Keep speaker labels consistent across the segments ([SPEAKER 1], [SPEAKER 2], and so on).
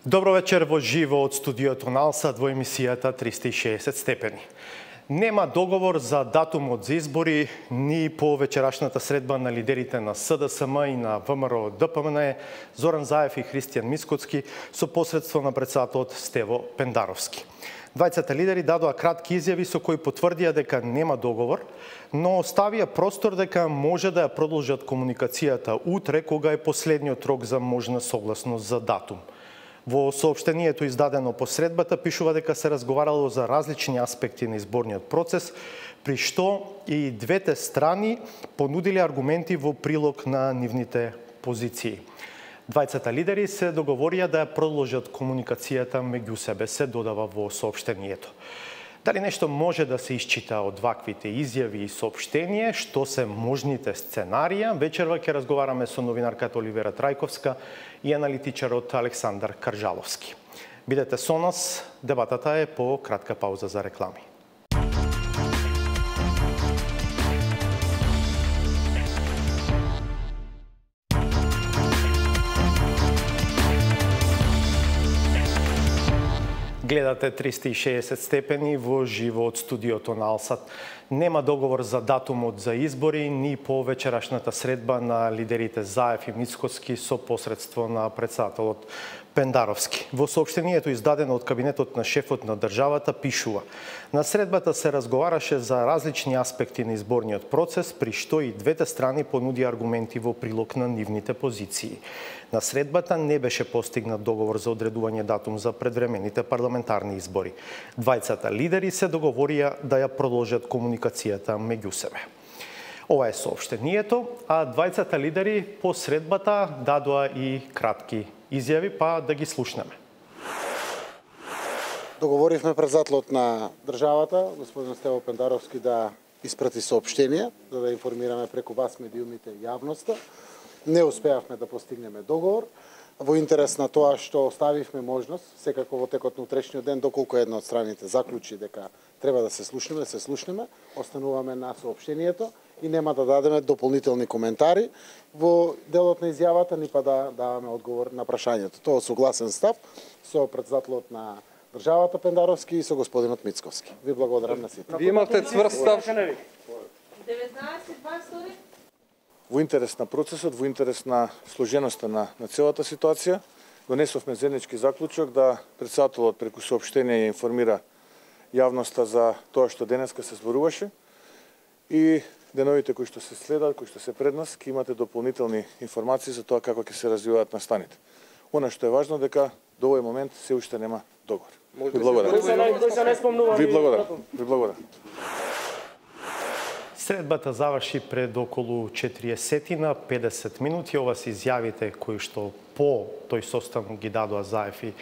[SPEAKER 1] Добро вечер во живо од студиото на Алсат во емисијата 360 степени. Нема договор за датумот за избори ни по вечерашната средба на лидерите на СДСМ и на ВМРО ДПМН Зоран Заев и Христијан Мицкоцки со посредство на председателот Стево Пендаровски. Двајцата лидери дадоа кратки изјави со кои потврдија дека нема договор, но оставија простор дека може да ја продолжат комуникацијата утре кога е последниот рок за можна согласност за датум. Во соопштението издадено по средбата пишува дека се разговарало за различни аспекти на изборниот процес, при што и двете страни понудиле аргументи во прилог на нивните позиции. Двајцата лидери се договорија да ја продолжат комуникацијата меѓу себе, се додава во соопштението. Дали нешто може да се исчита од ваквите изјави и соопштение, што се можните сценарија, вечерва ќе разговараме со новинарката Оливера Трајковска и аналитичарот Александар Каржаловски. Бидете со нас, дебатата е по кратка пауза за реклами. Гледате 360 степени во живо од студиото на Алсат. Нема договор за датумот за избори ни по вечерашната средба на лидерите Заев и Мицкоцки со посредство на председателот Пендаровски. Во соопштението издадено од кабинетот на шефот на државата пишува: на средбата се разговараше за различни аспекти на изборниот процес, при што и двете страни понуди аргументи во прилог на нивните позиции. На средбата не беше постигнат договор за одредување датум за предвремените парламентарни избори. Двајцата лидери се договорија да ја продолжат комуникацијата меѓу себе. Ова е соопштението, а двајцата лидери по средбата дадоа и кратки изјави, па да ги слушнеме.
[SPEAKER 2] Договоривме председателот на државата, господин Стево Пендаровски, да испрати соопштение, за да информираме преку вас медиумите и јавноста. Не успеавме да постигнеме договор. Во интерес на тоа што оставивме можност, секако во текот на утрешниот ден, доколку една од страните заклучи дека треба да се слушнеме, остануваме на соопштението и нема да дадеме дополнителни коментари во делот на изјавата, ни па да даваме одговор на прашањето. Тоа е согласен став со председателот на државата Пендаровски и со господинот Мицковски. Ви благодарам на сите.
[SPEAKER 3] Ви имате цврст став.
[SPEAKER 4] 19-20.
[SPEAKER 3] Во интерес на процесот, во интерес на сложеноста на целата ситуација, донесовме заеднички заклучок да председателот преку соопштение ја информира јавноста за тоа што денеска се зборуваше и деновите кои што се следат, кои што се пред нас, ќе имате дополнителни информации за тоа како ќе се развиваат настаните. Она што е важно дека до овој момент се уште нема договор. Ви благодарам. Ви благодарам.
[SPEAKER 1] Средбата заврши пред околу 40 минути. Ова се изјавите кои што по тој состав ги дадоа Заев и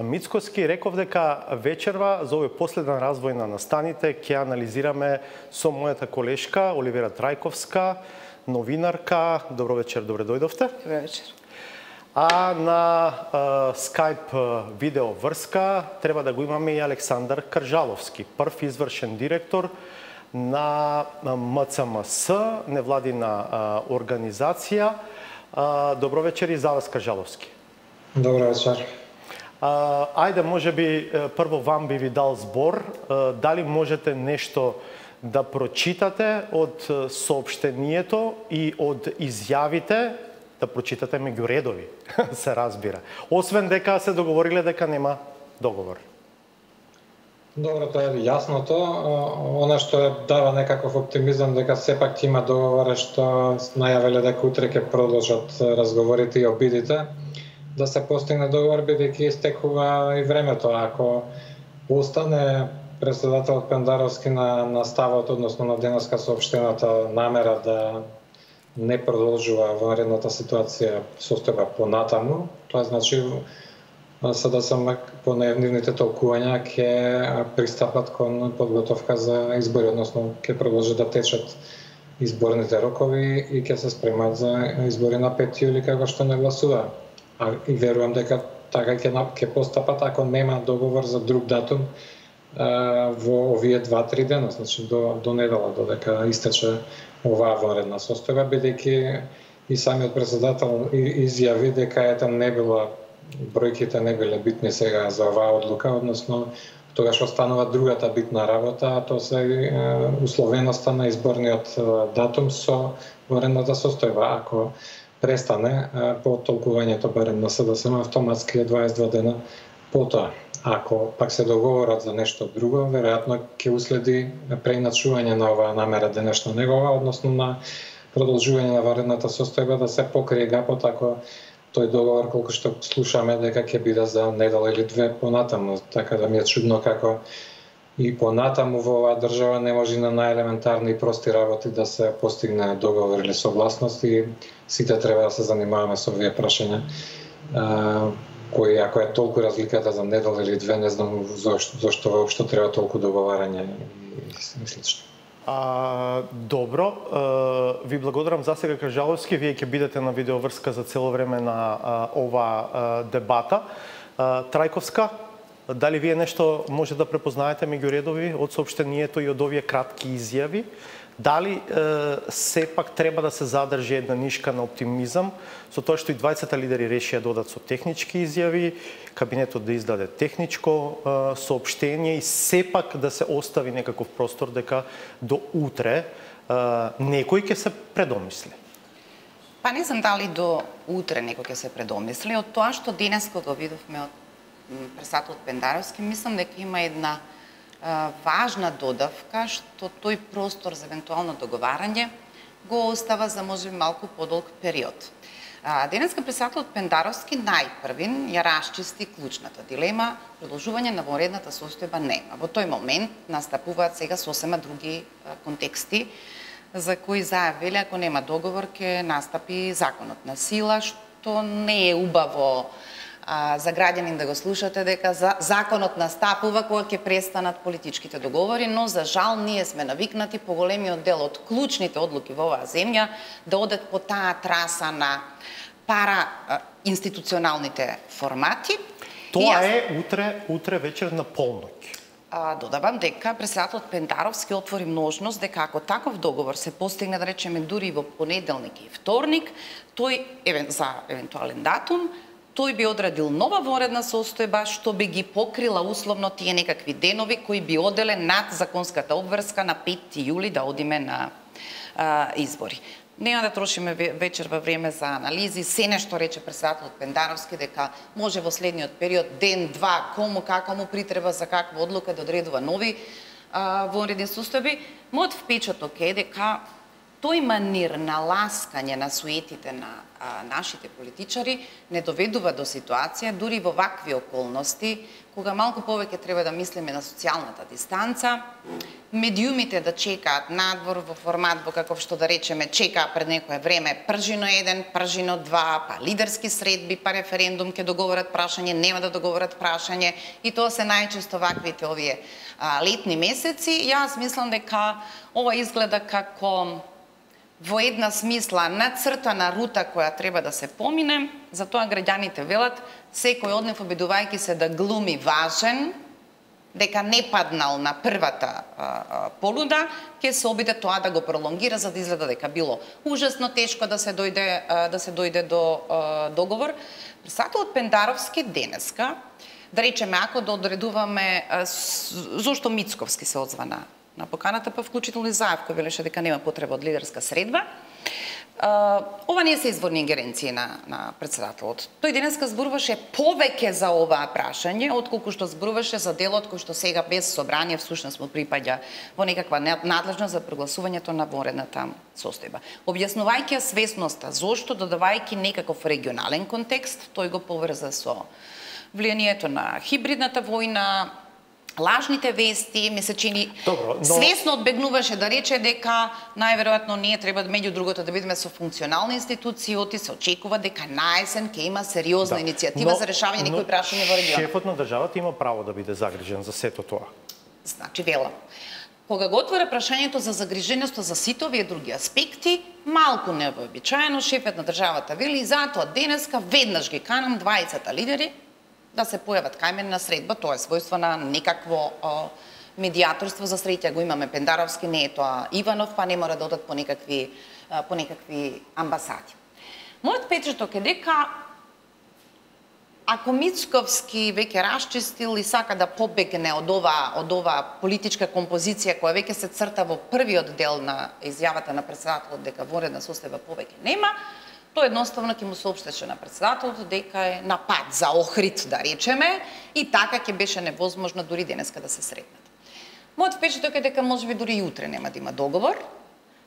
[SPEAKER 1] Мицкоцки. Реков дека вечерва за овој последен развој на настаните ќе анализираме со мојата колешка Оливера Трајковска, новинарка. Добро вечер, добре дојдовте.
[SPEAKER 4] Добро вечер.
[SPEAKER 1] А на Skype видео врска треба да го имаме и Александар Каржаловски, прв извршен директор на МЦМС, невладина организација. Добро вечер и за вас, Каржаловски.
[SPEAKER 5] Добро вечер.
[SPEAKER 1] Ајде, може би прво вам би ви дал збор. Дали можете нешто да прочитате од соопштението и од изјавите, да прочитате меѓу редови, се разбира. Освен дека се договориле дека нема договор.
[SPEAKER 5] Добро, тоа е јасното. Она што дава некаков оптимизам дека сепак ќе има договор што најавиле дека утре ќе продолжат разговорите и обидите да се постигне договор, бидејќи истекува и времето. Ако остане председателот Пендаровски на ставот, односно на денеска соопштената намера да не продолжува vanredната ситуација состојба понатаму, тоа значи СДСМ по нивните толкувања ќе пристапат кон подготовка за избори, односно ќе продолжат да течат изборните рокови и ќе се спремат за избори на 5 јули како што не гласува. И верувам дека така ќе постапат ако нема договор за друг датум во овие 2-3 дена, значи до недела, додека истече оваа vanredна состојба, бидејќи и самиот председател изјави дека не било бројките не биле битни сега за оваа одлука, односно тогаш останува другата битна работа, а тоа се условеноста на изборниот датум со варената состојба. Ако престане по толкувањето барем на СДСМ, автоматски е 22 дена потоа. Ако пак се договорат за нешто друго, веројатно ќе уследи преиначување на оваа намера денешна негова, односно на продолжување на варената состојба да се покрие гапот ако тој договор, колку што слушаме, дека ќе биде за недела или две понатаму. Така да ми е чудно како и понатаму во оваа држава не може на најелементарни и прости работи да се постигне договор или согласност и сите треба да се занимаваме со овие прашања. Кои, ако е толку разликата за недела или две, не знам зашто воопшто треба толку договарање и слично.
[SPEAKER 1] Добро, ви благодарам за сега, Кажаловски. Вие ќе бидете на видеоврска за цело време на оваа дебата. Трајковска, дали вие нешто може да препознаете меѓу редови од соопштението и од овие кратки изјави? Дали сепак треба да се задржи една нишка на оптимизам со тоа што и двајцата лидери решија да одат со технички изјави, кабинетот да издаде техничко соопштение и сепак да се остави некаков простор дека до утре некој ќе се предомисли?
[SPEAKER 4] Па не знам дали до утре некој ќе се предомисли. Од тоа што денес го видовме од председателот Пендаровски, мислам дека има една важна додавка што тој простор за евентуално договарање го остава за можеби малку подолг период. Денеска председателот Пендаровски најпрвин ја расчисти клучната дилема, продолжување на вонредната состојба нема. Во тој момент настапуваат сега сосема други контексти за кои зајавиле ако нема договор ќе настапи законот на сила, што не е убаво за граѓанин да го слушате дека законот настапува кога ќе престанат политичките договори, но за жал ние сме навикнати поголемиот дел од клучните одлуки во оваа земја да одат по таа траса на пара институционалните формати.
[SPEAKER 1] Тоа е утре вечер на полноќ.
[SPEAKER 4] Додавам дека председателот Пендаровски отвори можност дека ако таков договор се постигне, да речеме, дури во понеделник и вторник, тој за евентуален датум, тој би одредил нова вонредна состојба што би ги покрила условно тие некакви денови кои би оделе над законската обврска на 5 јули да одиме на избори. Нема да трошиме вечер во време за анализи, се нешто рече председателот Пендаровски дека може во следниот период, ден, два, кому, како му притреба, за каква одлука да одредува нови вонредни состојби. Мојот впечаток е дека тој манир на ласкање на суетите на нашите политичари не доведува до ситуација, дури во вакви околности, кога малку повеќе треба да мислиме на социјалната дистанца, медиумите да чекаат надвор во формат во каков што да речеме чекаа пред некое време пржино 1, пржино 2, па лидерски средби, па референдум ќе договорат прашање, нема да договорат прашање и тоа се најчесто ваквите овие летни месеци. Јас мислам дека ова изгледа како во една смисла нацртана рута која треба да се помине, затоа граѓаните велат секој од нив обидувајќи се да глуми важен, дека не паднал на првата полуда, ќе се обиде тоа да го пролонгира за да изгледа дека било ужасно тешко да се дојде до договор. Председателот Пендаровски денеска, да речеме ако да одредуваме зошто Мицковски се озвана на поканата, па вклучително и Заев, кој велеше дека нема потреба од лидерска средба. Ова не се изворни ингеренции на председателот. Тој денеска зборуваше повеќе за оваа прашање, отколку што зборуваше за делот кој што сега без собрание всушност му припаѓа во некаква надлежност за прогласувањето на вонредната состојба. Објаснувајќи свесноста, зошто додавајќи некаков регионален контекст, тој го поврза со влијанието на хибридната војна, лажните вести, ми се чини свесно одбегнуваше да рече дека најверојатно ние треба меѓу другото да бидеме со функционални институции, оти се очекува дека наесен ќе има сериозна иницијатива за решавање некои прашања во регионот.
[SPEAKER 1] Шефот на државата има право да биде загрижен за сето тоа.
[SPEAKER 4] Значи велам, кога го отвора прашањето за загриженост за сите овие други аспекти, малку невообичаено шефот на државата вели и затоа денеска веднаш ги канам двајцата лидери да се појават кај мене на средба, тоа е својство на некакво медијаторство, за среќа го имаме Пендаровски, не е тоа Иванов, па не мора да одат по некакви амбасади. Мојот впечаток е дека Ако Мицковски веќе расчистил и сака да побегне од ова политичка композиција која веќе се црта во првиот дел на изјавата на претседателот дека вонредна состојба повеќе нема, тој едноставно ќе му соопштеше на претседателот дека е на пат за Охрид, да речеме, и така ќе беше невозможно дури денеска да се сретнат. Мојот впечаток е дека можеби дури и утре нема да има договор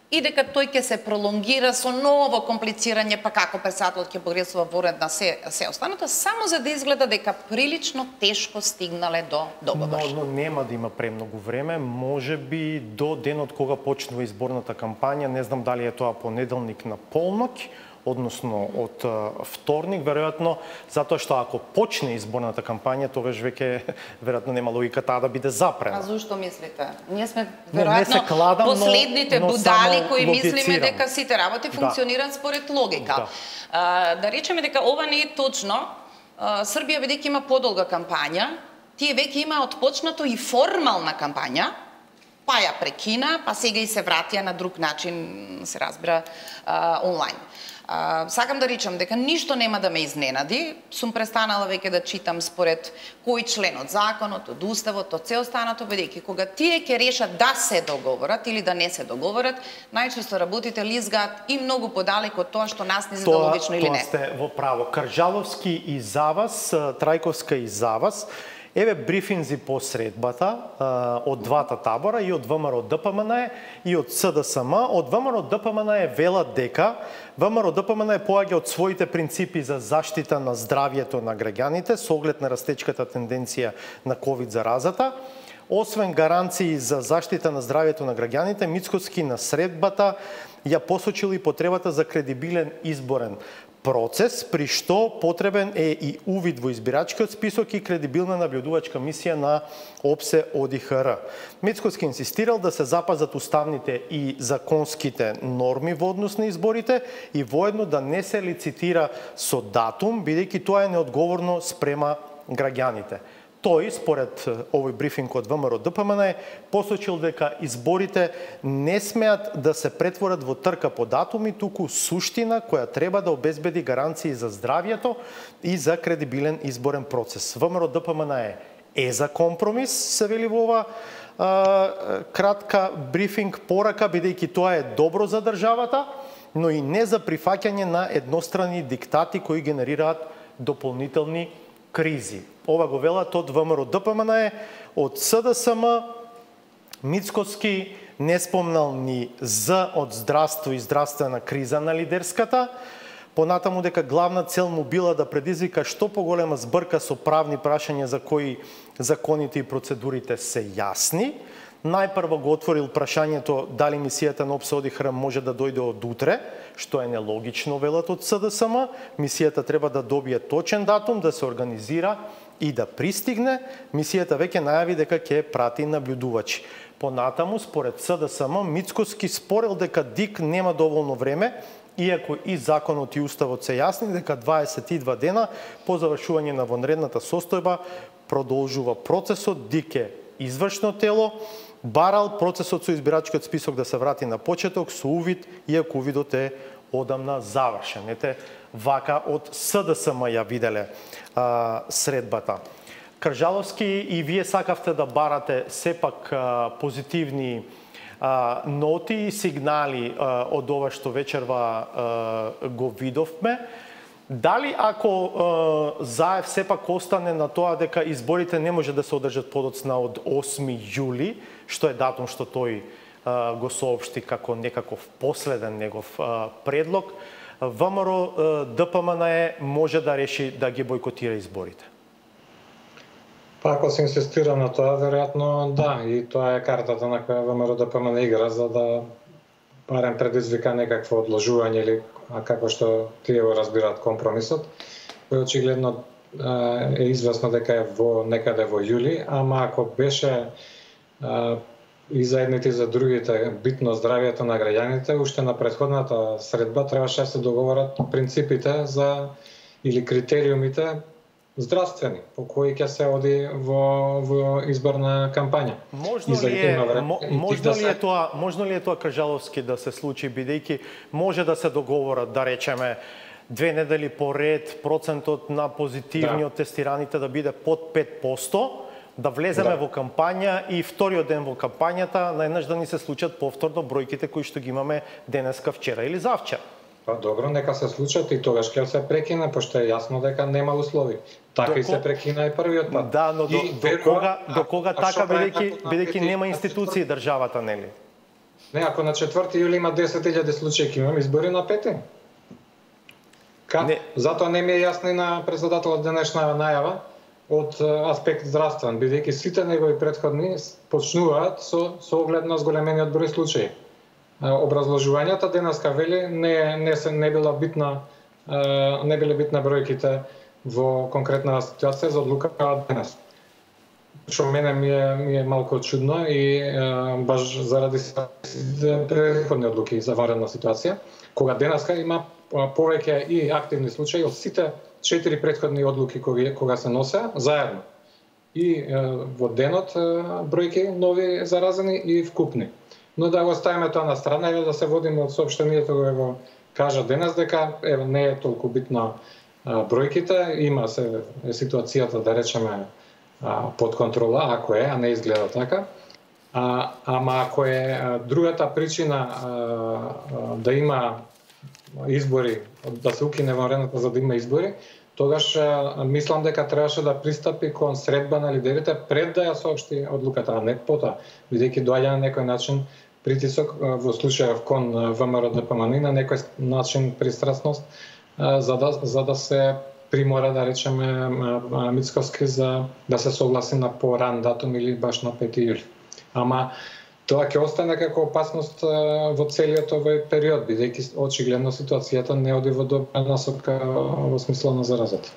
[SPEAKER 4] и дека тој ќе се пролонгира со ново комплицирање, па како претседателот ќе погресува вонредна се останато, само за да изгледа дека прилично тешко стигнале до договор.
[SPEAKER 1] Но нема да има премногу време, можеби до денот кога почнува изборната кампања, не знам дали е тоа понеделник на полноќ, односно од вторник, веројатно, затоа што ако почне изборната кампања, тогаш веќе веројатно нема логика таа да биде запрена.
[SPEAKER 4] А зашто мислите? Ние сме
[SPEAKER 1] веројатно
[SPEAKER 4] последните будали кои мислиме дека сите работи функционираат според логика. Да речеме дека ова не е точно. Србија бидејќи има подолга кампања, тие веќе има отпочнато и формална кампања, па ја прекина, па сега и се вратија на друг начин, се разбира, онлайн. Сакам да речам дека ништо нема да ме изненади. Сум престанала веќе да читам според кој член од законот, од уставот, од се останато, бидејќи кога тие ќе решат да се договорат или да не се договорат, најчесто работите лизгаат и многу подалеку од тоа што нас не задологично или не.
[SPEAKER 1] Тоа сте во право. Каржаловски и за вас, Трајковска и за вас. Еве брифинзи по средбата од двата табора, и од ВМРО ДПМН и од СДСМ. Од ВМРО ДПМН велат дека ВМРО ДПМН поаѓа од своите принципи за заштита на здравјето на граѓаните со оглед на растечката тенденција на ковид заразата. Освен гаранции за заштита на здравјето на граѓаните, Мицковски на средбата ја посочил и потребата за кредибилен изборен процес, при што потребен е и увид во избирачкиот список и кредибилна наблюдувачка мисија на ОПСЕ ОДИХР. Мицковски инсистирал да се запазат уставните и законските норми во однос на изборите и воедно да не се лицитира со датум, бидејќи тоа е неодговорно спрема граѓаните. Тој, според овој брифинг од ВМРО ДПМН, посочил дека изборите не смеат да се претворат во трка по датуми, туку суштина која треба да обезбеди гаранции за здравјето и за кредибилен изборен процес. ВМРО ДПМН е за компромис, се вели во ова кратка брифинг порака, бидејќи тоа е добро за државата, но и не за прифаќање на едностранни диктати кои генерираат дополнителни кризи. Ова го велат од ВМРО ДПМН, од СДСМ, Мицковски не спомнал ни З од здравство и здравствена криза на лидерската, понатаму дека главна цел му била да предизвика што поголема збрка со правни прашања за кои законите и процедурите се јасни. Најпрво го отворил прашањето дали мисијата на ОПСЕ ОДИХР може да дојде од утре, што е нелогично, велат од СДСМ. Мисијата треба да добие точен датум, да се организира и да пристигне. Мисијата веќе најави дека ќе прати наблюдувачи. Понатаму, според СДСМ, Мицковски спорел дека ДИК нема доволно време, иако и законот и уставот се јасни дека 22 дена по завршување на вонредната состојба продолжува процесот. ДИК е извршно тело, барал процесот со избирачкиот список да се врати на почеток со увид, иако увидот е одамна завршен. Ете, вака од СДСМ ја виделе средбата. Каржаловски, и вие сакавте да барате сепак позитивни ноти и сигнали од ова што вечерва го видовме. Дали ако Заев сепак остане на тоа дека изборите не може да се одржат подоцна од 8 јули, што е датум што тој го соопшти како некаков последен негов предлог, ВМРО ДПМН може да реши да ги бойкотира изборите?
[SPEAKER 5] Па ако се инсистира на тоа, веројатно да, и тоа е картата на која ВМРО ДПМН игра, за да барем предизвика некакво одложување или како што тие го разбираат компромисот, кој очигледно е известно дека е некаде во јули, ама ако беше и за едните и за другите битно здравјето на граѓаните, уште на претходната средба требаше да се договорат принципите за или критериумите здравствени по кои ќе се оди во изборна кампања.
[SPEAKER 1] Можно ли е тоа Каржаловски да се случи, бидејќи може да се договорат, да речеме, 2 недели поред процентот на позитивни од тестираните да биде под 5%, да влеземе во кампања и вториот ден во кампањата наеднаш да ни се случат повторно бројките кои што ги имаме денеска, вчера или завчера.
[SPEAKER 5] Па добро, нека се случат и тогаш ќе се прекине, пошто е јасно дека нема услови. Така и се прекина и првиот пат.
[SPEAKER 1] Да, но до кога така, бидејќи нема институции државата, нели?
[SPEAKER 5] Не, ако на 4 јули има 10.000 случаи, ќе имаме избори на 5. Затоа не ми е јасно и на председателот денешна најава од аспект здравствен, бидејќи сите негови претходни почнуваат со оглед на зголемениот број случаи. Образложувањата денеска вели не биле битна бројките во конкретна ситуација за одлука денес. Што мене ми е малку чудно и баш заради претходни одлуки за варена ситуација, кога денеска има повеќе и активни случаи од сите 4 претходни одлуки кога се носе заедно. И во денот бројки нови заразени и вкупни. Но да го ставиме тоа на страна и да се водиме од соопштението кој го кажа денес дека не е толку битна бројките, има се ситуацијата да речеме под контрола, ако е, а не изгледа така. Ама ако е другата причина да има избори, да се укине варената за да има избори, тогаш мислам дека требаше да пристапи кон средба на лидерите пред да ја соопшти одлуката, а не потоа, бидејќи доаѓа на некој начин притисок во случајов кон ВМРО ДПМН на некој начин пристрасност за да се примора, да речеме, Мицковски за да се согласи на поран датум или баш на 5 јули. Ама тоа ќе остане како опасност во целиот овој период, бидејќи очигледно ситуацијата не оди во добра насока во смисла на заразата.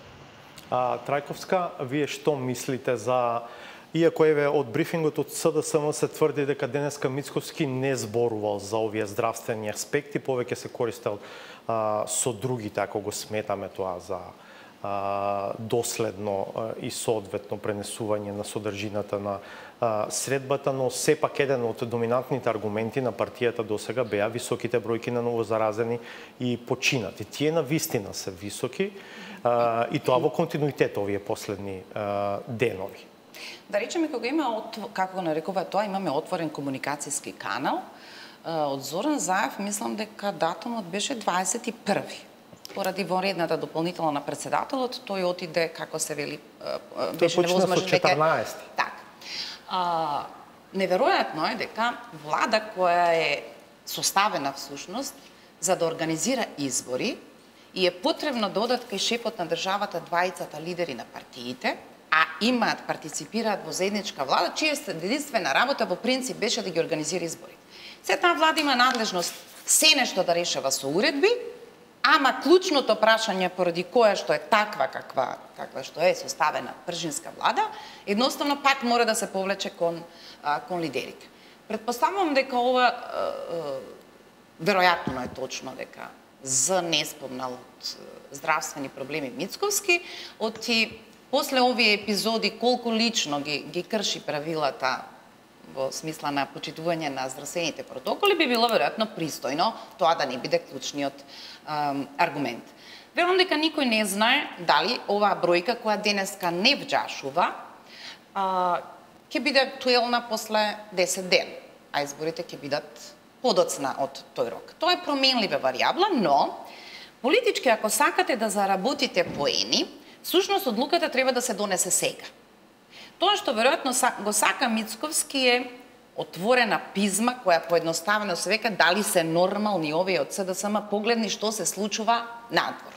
[SPEAKER 1] Трајковска, вие што мислите за... Иако еве од брифингот од СДСМ се тврди дека денеска Мицковски не зборувал за овие здравствени аспекти, повеќе се користел со другите, ако го сметаме тоа за доследно и соодветно пренесување на содржината на средбата, но сепак еден од доминантните аргументи на партијата досега беа високите бројки на новозаразени и починати. Тие на вистина се високи и тоа во континуитет овие последни денови.
[SPEAKER 4] Да речеме, кога има, како го нарекува тоа, имаме отворен комуникацијски канал, од Зоран Заев, мислам дека датумот беше 21. Поради вонредната дополнителна на председателот, тој отиде, како се вели, беше невозможно
[SPEAKER 1] дека... Тој почна со 14.
[SPEAKER 4] Так. Неверојатно е дека влада која е составена всушност за да организира избори и е потребно да одат кај шефот на државата двајцата лидери на партиите, а имаат, партиципираат во заедничка влада, чија единствена работа во принцип беше да ги организира избори. Се таа влада има надлежност се нешто да решава со уредби, ама клучното прашање поради која што е таква каква што е составена пржинска влада, едноставно пак мора да се повлече кон лидерите. Предпоставувам дека ова веројатно е точно дека З не спомнал од здравствени проблеми Мицковски, после овие епизоди колку лично ги крши правилата во смисла на почитување на здравствените протоколи, би било веројатно пристојно тоа да не биде клучниот аргумент. Верувам дека никој не знае дали оваа бројка која денеска не вџашува ќе биде актуелна после 10 ден, а изборите ќе бидат подоцна од тој рок. Тоа е променлива варијабла, но политички ако сакате да заработите поени, всушност одлуката треба да се донесе сега. Тоа што веројатно го сака Мицковски е отворена пизма која поедноставено се века дали се нормални овие од СДСМ погледни што се случува надвор.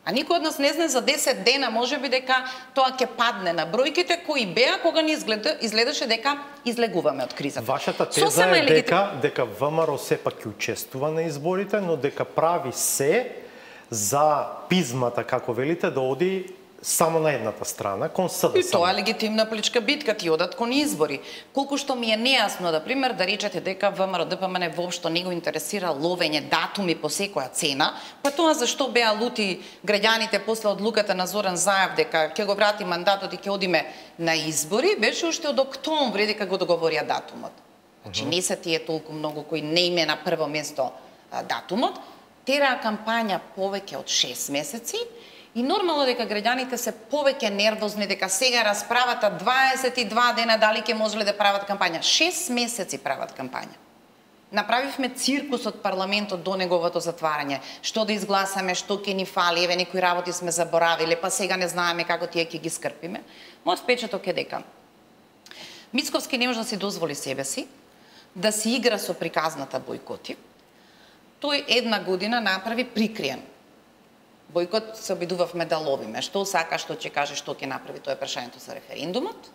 [SPEAKER 4] А никој од нас не знае за 10 дена можеби дека тоа ќе падне на бројките кои беа кога ни изгледаше дека излегуваме од кризата.
[SPEAKER 1] Вашата теза е дека ВМРО сепак ќе учествува на изборите, но дека прави се за пизмата, како велите, да оди само на едната страна, кон СДСМ.
[SPEAKER 4] И тоа е легитимна политичка битка, ти одат кон избори. Колку што ми е нејасно, да пример, да речете дека ВМРО ДПМН воопшто не го интересира ловење датуми по секоја цена, па тоа зашто беа лути граѓаните после одлуката на Зоран Заев дека ќе го врати мандатот и ќе одиме на избори, беше уште од октомври дека го договорија датумот. Значи не се тие толку многу кои не име на прво место датумот, тераа кампања повеќе од 6 месеци и нормално дека граѓаните се повеќе нервозни дека сега расправата 22 дена дали ќе можеле да прават кампања. 6 месеци прават кампања. Направивме циркус од парламентот до неговото затварање. Што да изгласаме, што ќе ни фали, еве некои работи сме заборавиле, па сега не знаеме како тие ќе ги скрпиме. Мојот впечаток е дека Мицковски не може да си дозволи себе си да си игра со приказната бойкоти. Тој една година направи прикриен бойкот, се обидувавме да ловиме. Што сака, што ќе каже, што ќе направи, тоа е прашањето за референдумот.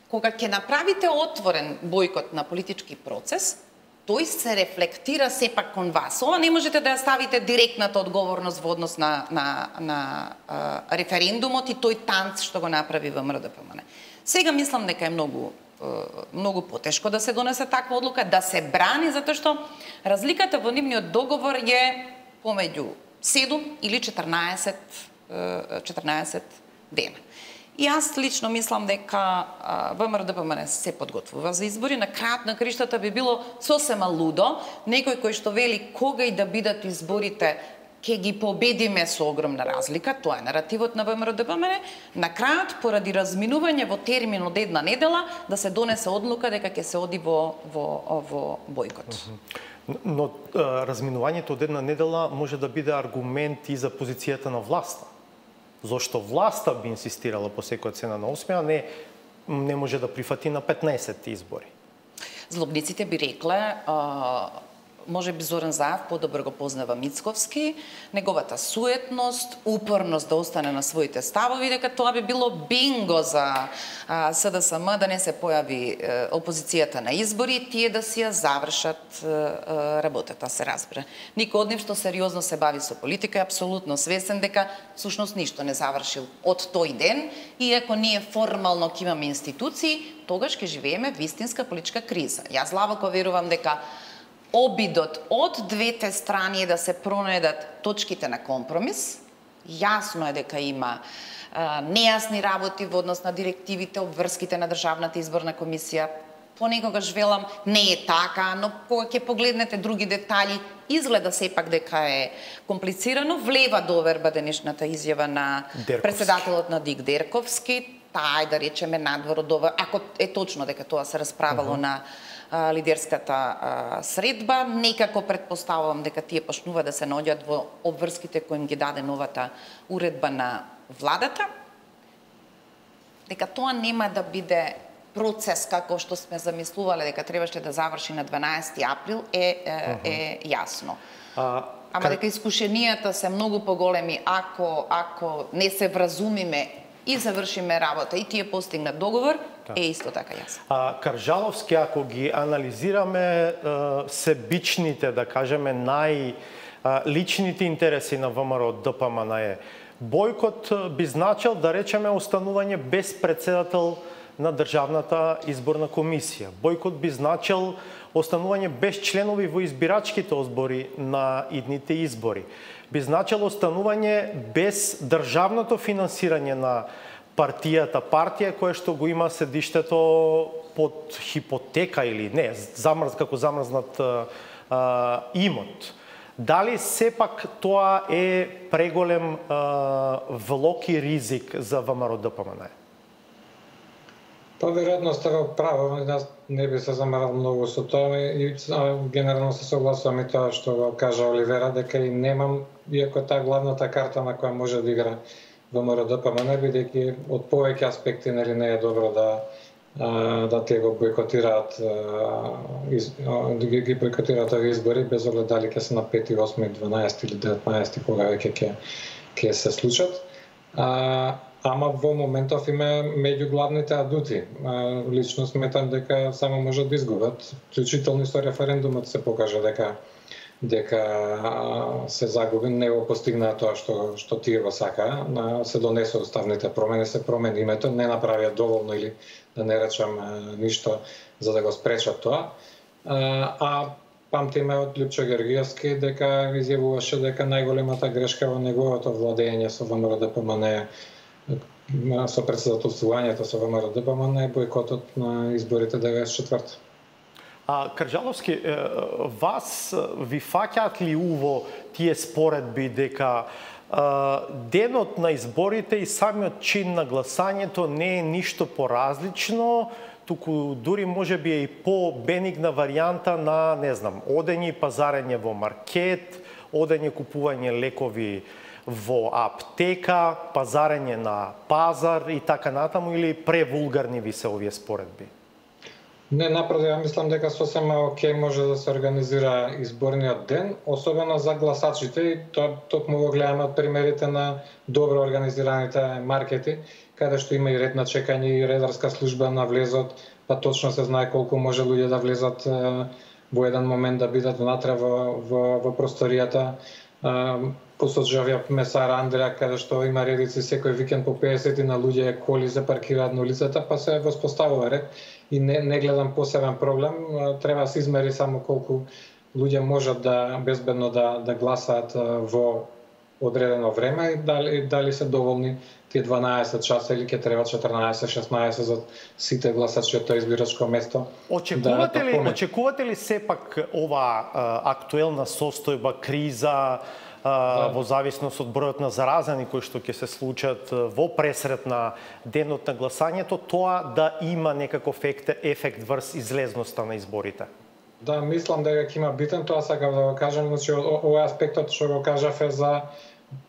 [SPEAKER 4] Кога ќе направите отворен бойкот на политички процес, тој се рефлектира сепак кон вас. Ова не можете да ја ставите директната одговорност во однос на референдумот и тој танц што го направи ВМРО-ДПМН. Сега мислам дека е многу потешко да се донесе таква одлука, да се брани, затоа што разликата во нивниот договор е помеѓу 7 или 14 дена. И јас лично мислам дека ВМРО-ДПМН се подготвува за избори. На крајот на криштата би било сосема лудо некој кој што вели кога и да бидат изборите ќе ги победиме со огромна разлика, тоа е наративот на ВМРО-ДПМН, на крајот поради разминување во термин од една недела да се донесе одлука дека ќе се оди во бойкот.
[SPEAKER 1] Но разминувањето од една недела може да биде аргумент и за позицијата на власта. Зошто власта би инсистирала по секоја цена на 8, а не може да прифати на 15 избори?
[SPEAKER 4] Злобниците би рекле, може би Зоран Заев подобро го познава Мицковски, неговата суетност, упорност да остане на своите ставови, дека тоа би било бинго за СДСМ да не се појави опозицијата на избори, тие да си ја завршат работата, се разбира. Никој од нив што сериозно се бави со политика е апсолутно свесен дека всушност ништо не завршил од тој ден, и ако ние формално ќе имаме институции, тогаш ќе живееме вистинска политичка криза. Јас длабоко верувам дека обидот од двете страни е да се пронајдат точките на компромис. Јасно е дека има нејасни работи во однос на директивите, обврските на Државната изборна комисија. Понекогаш велам не е така, но кога ќе погледнете други детали, изгледа сепак дека е комплицирано. Влева доверба денешната изјава на председателот на ДИК Дерковски, таа да речеме надвор од ова, ако е точно дека тоа се расправало на лидерската средба, некако предпоставувам дека тие почнува да се наоѓаат во обврските кои им ги даде новата уредба на владата, дека тоа нема да биде процес како што сме замислувале дека требаше да заврши на 12 април е јасно. Ама дека искушенијата се многу поголеми ако не се вразумиме и завршиме работа и тие постигнат договор, е исто така јасно.
[SPEAKER 1] Каржаловски, ако ги анализираме себичните, да кажеме, најличните интереси на ВМРО-ДПМН, бойкот би значил, да речеме, останување без председател на Државната изборна комисија. Бойкот би значил останување без членови во избирачките одбори на идните избори. Би значило останување без државното финансирање на партија која што го има седиштето под хипотека или не, како замрзнат имот. Дали сепак тоа е преголем влог и ризик за ВМРО-ДПМН?
[SPEAKER 5] Па веројатно сте во право, јас не би се замерал многу со тоа и генерално се согласувам и тоа што го кажа Оливера, дека и немам, иако таа главната карта на која може да игра ВМРО-ДПМН, бидејќи од повеќе аспекти не е добро да те го бойкотираат ги бойкотираат овие избори без оглед дали ќе се на 5, 8, 12 или 19 кога веќе ќе се случат. Ама во моментов има меѓу главните адути. Лично сметам дека само можат да изгубат. Вклучително со референдумот се покажа дека се загуби, не го постигнаа тоа што тие го сакаа, се донесоа уставните промени, се промени името, не направија доволно или да не речам ништо за да го спречат тоа. Памтиме од Лјупчо Георгиевски дека изјавуваше дека најголемата грешка во неговото владење со ВМРО-ДПМН со председателствувањето со ВМРО-ДПМН е бойкотот на изборите 94.
[SPEAKER 1] Крджаловски, вас ви фаќаат ли уво тие споредби дека денот на изборите и самиот чин на гласањето не е ништо поразлично, туку дури може би е и по-бенигна варијанта на, не знам, одење и пазарење во маркет, одење купување лекови во аптека, пазарење на пазар и така натаму, или превулгарни ви се овие споредби?
[SPEAKER 5] Не, напротив, ја мислам дека сосема окей може да се организира изборниот ден, особено за гласачите, и тоа токму го гледаме од примерите на добро организираните маркети, каде што има и ред на чекање и редарска служба на влезот, па точно се знае колку може луѓе да влезат во еден момент да бидат внатре во просторијата. Посоджавија месар Андреа, каде што има редици секој викенд по 50 на луѓе коли се паркираат на улицата, па се воспоставува ред. И не гледам посебен проблем, треба да се измери само колку луѓе можат да безбедно да гласаат во одредено време и дали се доволни тие 12 часа или ќе треба 14-16 за сите гласачи од тоа избирачко место.
[SPEAKER 1] Очекувате ли сепак ова актуелна состојба, криза, во зависност од бројот на заразени кои што ќе се случат во пресред на денот на гласањето, тоа да има некаков ефект врз излезноста на изборите?
[SPEAKER 5] Да, мислам дека ќе има битен, тоа сакам да го кажам, значи овој аспектот што го кажав е за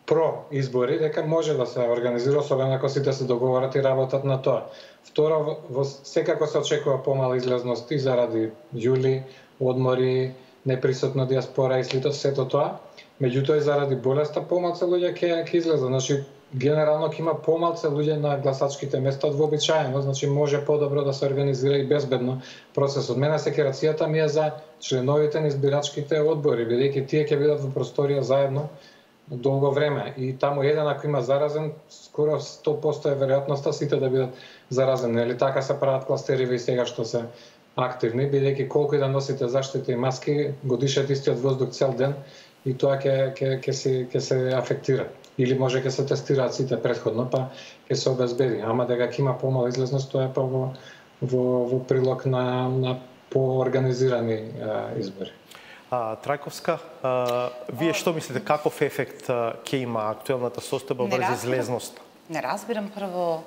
[SPEAKER 5] про избори, дека може да се организира, особено ако сите се договорат и работат на тоа. Второ, секако се очекува помала излезност и заради јули, одмори, неприсутна диаспора и сето тоа. Меѓутоа и заради болеста помалку луѓе ќе излезат. Значи генерално ќе има помалку луѓе на гласачките места од вообичаено, значи може подобро да се организира и безбедно процесот. Мене секирацијата ми е за членовите на избирачките одбори, бидејќи тие ќе бидат во просторија заедно долго време и таму еден ако има заразен, скоро 100% е веројатноста сите да бидат заразени. Нели така се прават кластериве и сега што се активни, бидејќи колку и да носите заштита и маски, го дишат истиот воздух цел ден и тоа ќе се афектира. Или може ќе се тестираат сите претходно, па ќе се обезбеди. Ама дека ќе има помала излезност, тоа е па во прилог на поорганизирани избори.
[SPEAKER 1] Трајковска, вие што мислите, каков ефект ќе има актуелната состојба врз излезноста?
[SPEAKER 4] Не разбирам прво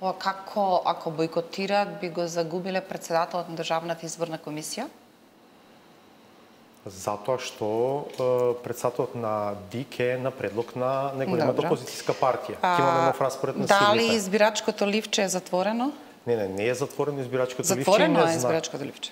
[SPEAKER 4] како ако бойкотираат би го загубиле претседателот на Државната изборна комисија?
[SPEAKER 1] Затоа што председателот на ДИК е на предлог на неголемата опозицијска партија. Ќе имаме нов распоред на силите.
[SPEAKER 4] Дали избирачкото ливче е затворено?
[SPEAKER 1] Не е затворено избирачкото ливче.
[SPEAKER 4] Затворено е избирачкото ливче.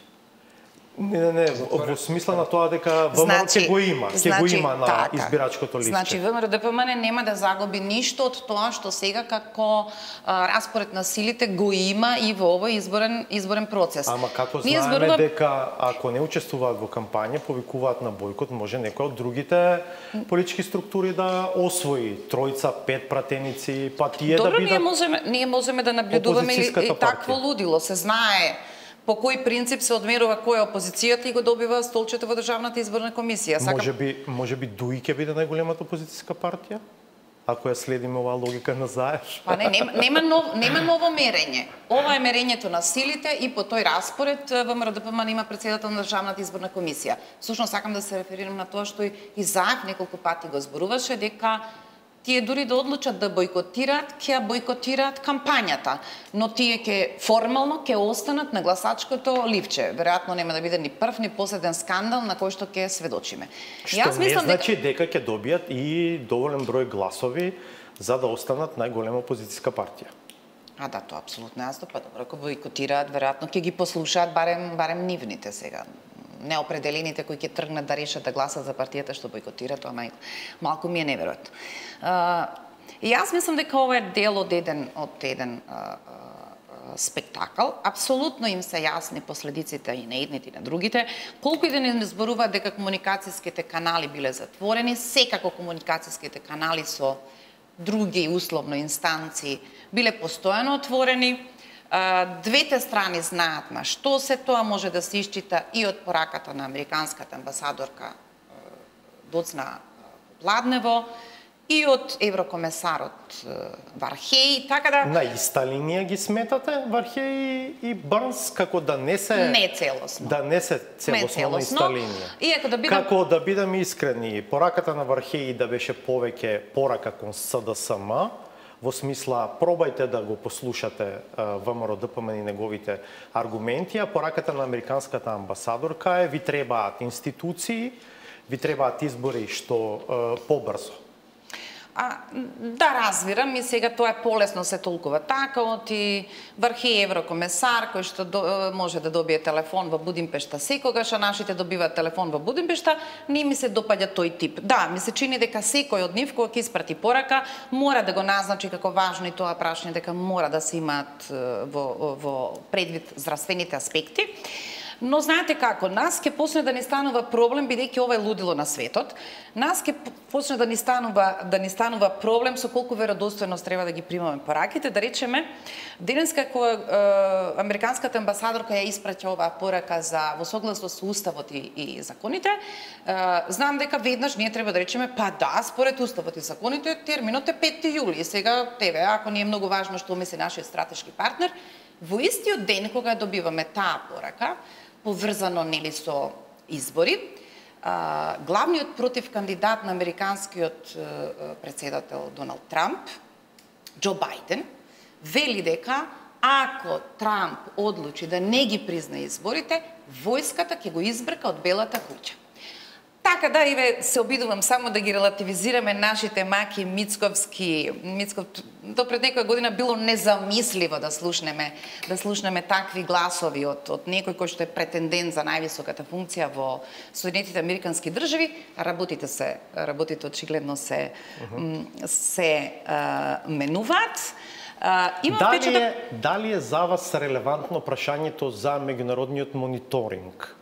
[SPEAKER 1] Не, во смисла на тоа дека ВМРО ќе го има, на избирачкото ливче.
[SPEAKER 4] Значи ВМРО-ДПМН нема да загуби ништо од тоа што сега како распоред на силите го има и во овој изборен процес.
[SPEAKER 1] Ама како знаеме дека ако не учествуваат во кампања, повикуваат на бойкот, може некој од другите политички структури да освои тројца, 5 пратеници, па тие да бидат.
[SPEAKER 4] Добро, ние можеме да наблюдуваме и такво лудило, се знае по кој принцип се одмерува која опозицијата и го добива столчето во Државната изборна комисија.
[SPEAKER 1] Може би ДУИ ќе биде најголемата опозицијска партија? Ако ја следиме оваа логика на Заеш.
[SPEAKER 4] Па нема ново мерење. Ова е мерењето на силите и по тој распоред ВМРО-ДПМН има претседател на Државната изборна комисија. Всушност сакам да се реферирам на тоа што и Заев неколку пати го зборуваше дека тие дури да одлучат да бойкотираат, ќе бойкотираат кампањата, но тие ќе формално ќе останат на гласачкото ливче. Веројатно нема да биде ни прв ни последен скандал на кој што ќе сведочиме.
[SPEAKER 1] Што не значи дека ќе добијат и доволен број гласови за да останат најголема опозицијска партија.
[SPEAKER 4] Да, тоа апсолутно јасно, па добро, ако бойкотираат, веројатно ќе ги послушаат барем нивните сега. Неопределените кои ќе тргнат да решат да гласат за партијата што бойкотира, тоа малку ми е неверојатно. И јас мислам дека ова е дел од еден спектакл. Апсолутно им се јасни последиците и на едните и на другите. Колку и да не зборуваат дека комуникацијските канали биле затворени, секако комуникацијските канали со други условно инстанции биле постојано отворени. Двете страни знаат на што се тоа може да се исчита и од пораката на американската амбасадорка Доцна Пладнево и од еврокомесарот Вархеј, така да...
[SPEAKER 1] На иста линија ги сметате Вархеј и Брнс, како да не се...
[SPEAKER 4] Не целосно.
[SPEAKER 1] Да не се целосно на иста линија.
[SPEAKER 4] Иако да бидам...
[SPEAKER 1] Како да бидам искрени, пораката на Вархеј да беше повеќе порака кон СДСМ, во смисла пробајте да го послушате ВМРО ДПМН и неговите аргументи, а пораката на американската амбасадорка е ви требаат институции, ви требаат избори што побрзо.
[SPEAKER 4] Да, разбирам, и сега тоа е полесно се толкува така, оти Вархеј еврокомесар кој што може да добие телефон во Будимпешта секогаш, а нашите добиваат телефон во Будимпешта, не ми се допаѓа тој тип. Да, ми се чини дека секој од нив кога ќе испрати порака, мора да го назначи како важно и тоа прашање дека мора да се имаат во предвид здравствените аспекти. Но знаете како, нас ќе почне да ни станува проблем, бидејќи ова е лудило на светот. Нас ќе почне да ни станува проблем со колку веродостојност треба да ги примаме пораките. Да речеме, денеска кога американската амбасадорка ја испраќа оваа порака за во согласност со уставот и законите, знам дека веднаш ние треба да речеме, па да, според уставот и законите, терминот е 5 јули. И сега, ако ни е многу важно што мисли нашиот стратешки партнер, во истиот ден кога ја добиваме таа порака, поврзано нели со избори, главниот против кандидат на американскиот претседател Доналд Трамп, Џо Бајден, вели дека ако Трамп одлучи да не ги призна изборите, војската ќе го избрка од Белата куќа. Така да, Иве, се обидувам само да ги релативизираме нашите маки Мицковски. До пред некоја година било незамисливо да слушнеме такви гласови од некој кој што е претендент за највисоката функција во Соединетите американски држави. Работите очигледно се менуваат.
[SPEAKER 1] Дали е за вас релевантно прашањето за меѓународниот мониторинг?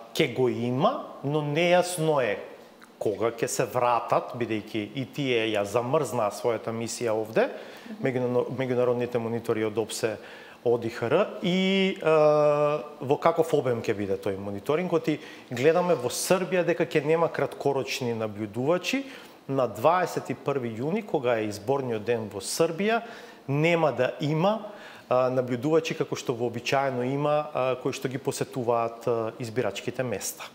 [SPEAKER 1] Ке го има, но нејасно е кога ќе се вратат, бидејќи и тие ја замрзнаа својата мисија овде, меѓународните монитори од ОПСЕ, ОДИХР, и во каков обем ќе биде тој мониторинг, оти гледаме во Србија дека ќе нема краткорочни наблюдувачи. На 21 јуни, кога е изборниот ден во Србија, нема да има наблюдувачи како што вообичаено има, кои што ги посетуваат избирачките места.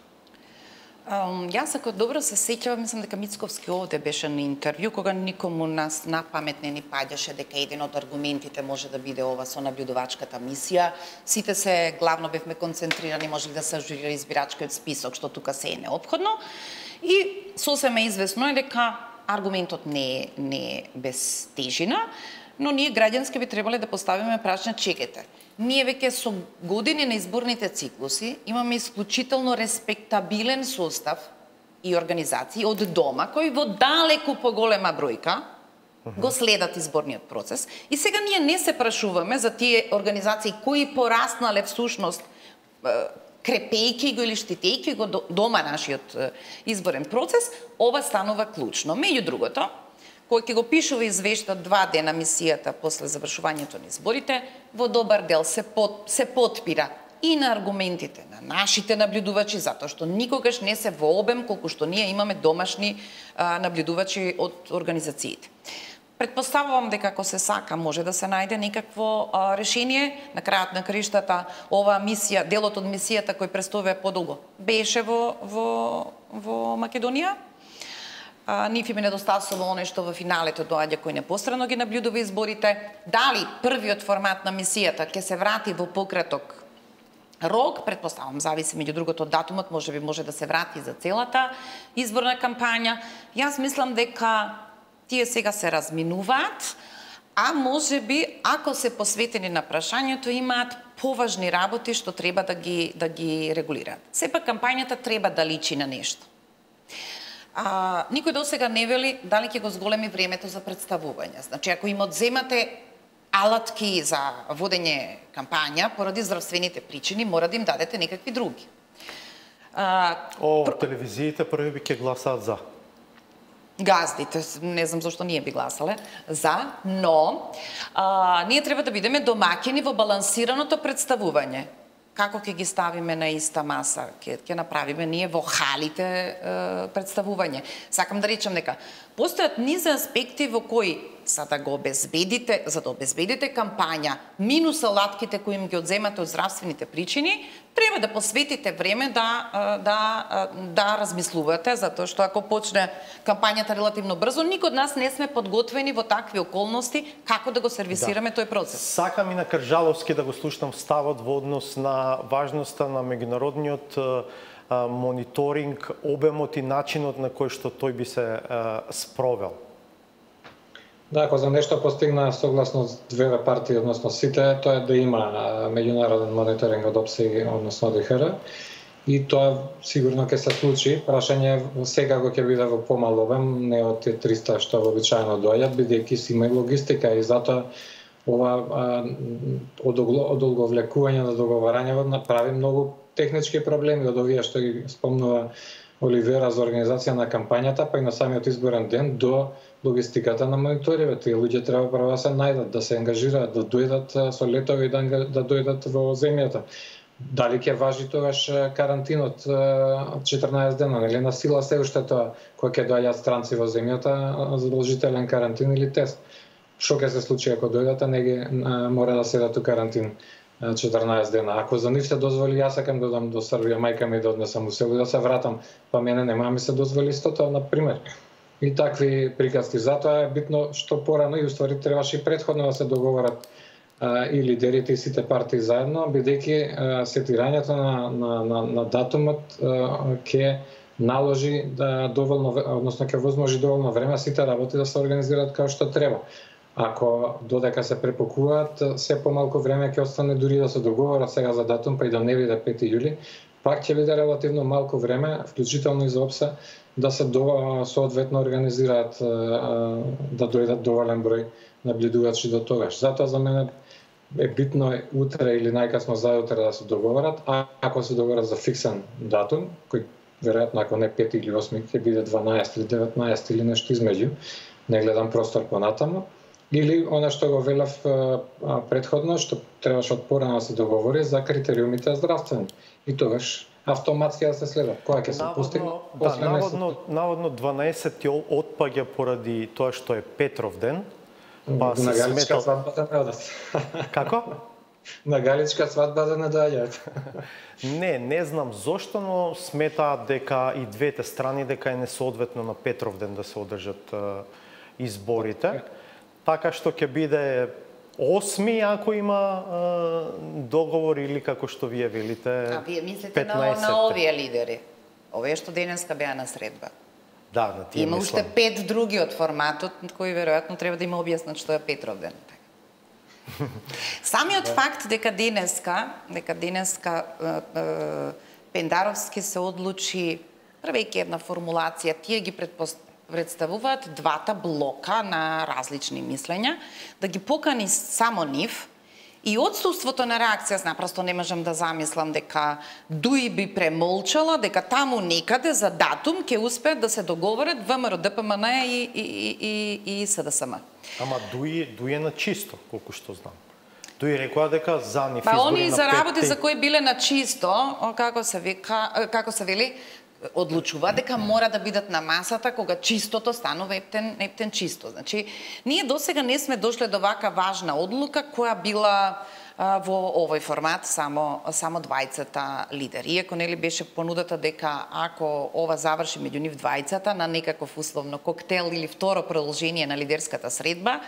[SPEAKER 4] Јас ако добро се сеќавам, мислам дека Мицковски овде беше на интервју, кога никому нас на памет не ни паѓаше дека еден од аргументите може да биде ова со наблюдувачката мисија. Сите се главно бевме концентрирани, може да се ажурира избирачкиот список, што тука се е неопходно. И сосема известно е дека аргументот не е без тежина, но ние граѓански би требале да поставиме прашање, чекайте. Ние веќе со години на изборните циклуси имаме исклучително респектабилен состав и организации од дома, кои во далеку поголема бројка го следат изборниот процес. И сега ние не се прашуваме за тие организации кои пораснале всушност крепејки го или штитејки го дома нашиот изборен процес. Ова станува клучно. Меѓу другото, кој ќе го пишува извештај 2 дена мисијата после завршувањето на изборите, во добар дел се потпира и на аргументите на нашите наблюдувачи, затоа што никогаш не се во обем колку што ние имаме домашни наблюдувачи од организациите. Предпоставувам дека ако се сака може да се најде некакво решение. На крајот на краиштата оваа мисија, делот од мисијата кој престојува подолго, беше во Македонија. Нив им недостасува оној што во финалето доаѓа кој непосредно ги наблюдува изборите. Дали првиот формат на мисијата ќе се врати во пократок рок, предпоставам, зависи меѓу другото од датумот, може да се врати за целата изборна кампања. Јас мислам дека тие сега се разминуваат, а можеби ако се посветени на прашањето имаат поважни работи што треба да ги регулираат. Сепак кампањата треба да личи на нешто. Никој досега не вели дали ќе го зголеми времето за представување. Значи, ако им одземате алатки за водење кампања поради здравствените причини, мора да им дадете некакви други.
[SPEAKER 1] Телевизиите први би ќе гласаат за.
[SPEAKER 4] Газдите, не знам зашто ние би гласале за, но ние треба да бидеме домаќини во балансираното представување. како ќе ги ставиме на иста маса, ќе направиме ние во халите представување. Сакам да речам дека постојат низ аспекти во кои за да обезбедите кампања минус алатките кои им ги одземате од здравствените причини, треба да посветите време да размислувате, затоа што ако почне кампањата релативно брзо, никој од нас не сме подготвени во такви околности како да го сервисираме тој процес.
[SPEAKER 1] Сакам и на Кржаловски да го слушнам ставот во однос на важноста на меѓународниот мониторинг, обемот и начинот на кој што тој би се спровел.
[SPEAKER 5] Да, ако за нешто постигна согласно две партии, односно сите, тоа е да има меѓународен мониторинг од ОПСЕ, односно ОДИХР, и тоа сигурно ќе се случи. Прашање сега го ќе биде во помал обем, не од тие 300 што вообичаено доаѓаат, бидејќи си има и логистика, и затоа ова одолговлекување на договарањето направи многу технички проблеми од овие што ги спомнува Оливера за организација на кампањата, па и на самиот изборен ден до логистиката на мониторивот. Тие луѓе треба прво да се најдат, да се ангажираат, да дојдат со летови, да дојдат во земјата. Дали ќе важи тогаш карантинот 14 дена, нели на сила се уште тоа, кога ќе доаѓаат странци во земјата, задолжителен карантин или тест. Што ќе се случи ако дојдат, а не ги мора да седат у карантин 14 дена. Ако за нив се дозволи, јас сакам да дам до Србија, мајка ми да однесам у село и да се вратам, па мене нема ми се дозволи истото, на пример. И такви приказки. Затоа е битно што порано и уствари требаше и претходно да се договорат и лидерите и сите партии заедно, бидејќи сетирањето на датумот ќе наложи доволно, односно ќе возможи доволно време сите работи да се организираат како што треба. Ако додека се препокуваат, се помалку време ќе остане дури да се договорат сега за датум, па и да не биде 5 јули, пак ќе биде релативно малку време, вклучително и за ОПСЕ, да се соодветно организираат, да дојдат доволен број наблюдувачи до тогаш. Затоа за мене е битно утре или најкасно заутре да се договорат, а ако се договорат за фиксен датум, кој веројатно ако не 5 или 8 ќе биде 12 или 19 или нешто измеѓу, не гледам простор понатаму, или она што го велев претходно, што требаше од порано да се договори за критериумите здравствени. И тогаш автоматски да се следат. Кога ќе се постигне?
[SPEAKER 1] Наводно 12 отпаѓа поради тоа што е Петров ден.
[SPEAKER 5] Па на галичка свадба да не одат.
[SPEAKER 1] Како?
[SPEAKER 5] На галичка свадба да не доаѓаат.
[SPEAKER 1] Не знам зошто, но сметаат дека и двете страни дека е несоодветно на Петров ден да се одржат изборите. Така што ќе биде 8 ако има договор или како што вие велите 15.
[SPEAKER 4] А вие мислите на овие лидери? Овие што денеска беа на средба.
[SPEAKER 1] Да, на тие
[SPEAKER 4] има уште 5 други од форматот кои веројатно треба да има објаснат што е Петров ден. Самиот факт дека денеска Пендаровски се одлучи, правејќи една формулација, тие ги представуваат двата блока на различни мислења, да ги покани само нив, и отсуството на реакција, напросто не можам да замислам дека Дуи би премолчала, дека таму некаде за датум ќе успеат да се договорат ВМРО, ДПМН и СДСМ.
[SPEAKER 1] Ама Дуи е на чисто, колку што знам. Дуи рекоа дека за нив избори на 5.
[SPEAKER 4] Они за работи за кои биле на чисто, како се вели, одлучува дека мора да бидат на масата кога чистото станува ептен чисто. Значи, ние досега не сме дошле до вака важна одлука која била во овој формат само двајцата лидери. Иако нели беше понудата дека ако ова заврши меѓу нив двајцата на некаков условно коктел или второ продолжение на лидерската средба,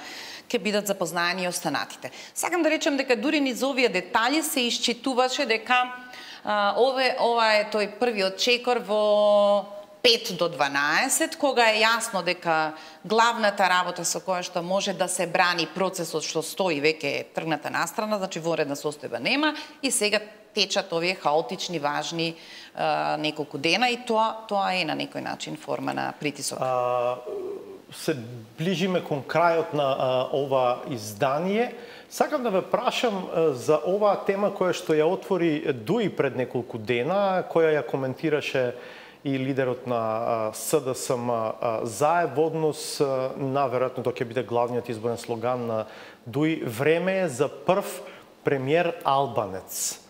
[SPEAKER 4] ќе бидат запознаени и останатите. Сакам да речем дека дури низ овие детали се исчитуваше дека ова е тој првиот чекор во 5 до 12, кога е јасно дека главната работа со која што може да се брани процесот што стои веќе е тргната настрана, значи воредна состојба нема, и сега течат овие хаотични, важни неколку дена, и тоа е на некој начин форма на притисок.
[SPEAKER 1] Се ближиме кон крајот на ова издание. Сакам да ве прашам за оваа тема која што ја отвори Дуи пред неколку дена, која ја коментираше и лидерот на СДСМ Заев во однос на, веројатно тоа ќе биде главниот изборен слоган на Дуи, време е за прв премиер албанец.